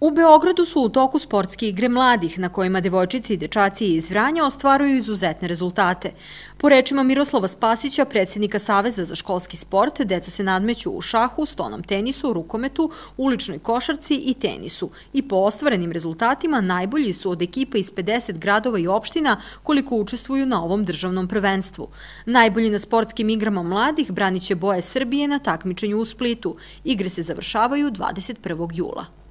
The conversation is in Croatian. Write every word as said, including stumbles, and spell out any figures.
U Beogradu su u toku sportske igre mladih, na kojima devojčice i dečaci iz Vranja ostvaruju izuzetne rezultate. Po rečima Miroslava Spasića, predsjednika Saveza za školski sport, deca se nadmeću u šahu, stonom tenisu, rukometu, uličnoj košarci i tenisu. I po ostvarenim rezultatima najbolji su od ekipa iz pedeset gradova i opština koliko učestvuju na ovom državnom prvenstvu. Najbolji na sportskim igrama mladih branit će boje Srbije na takmičenju u Splitu. Igre se završavaju dvadeset prvog jula.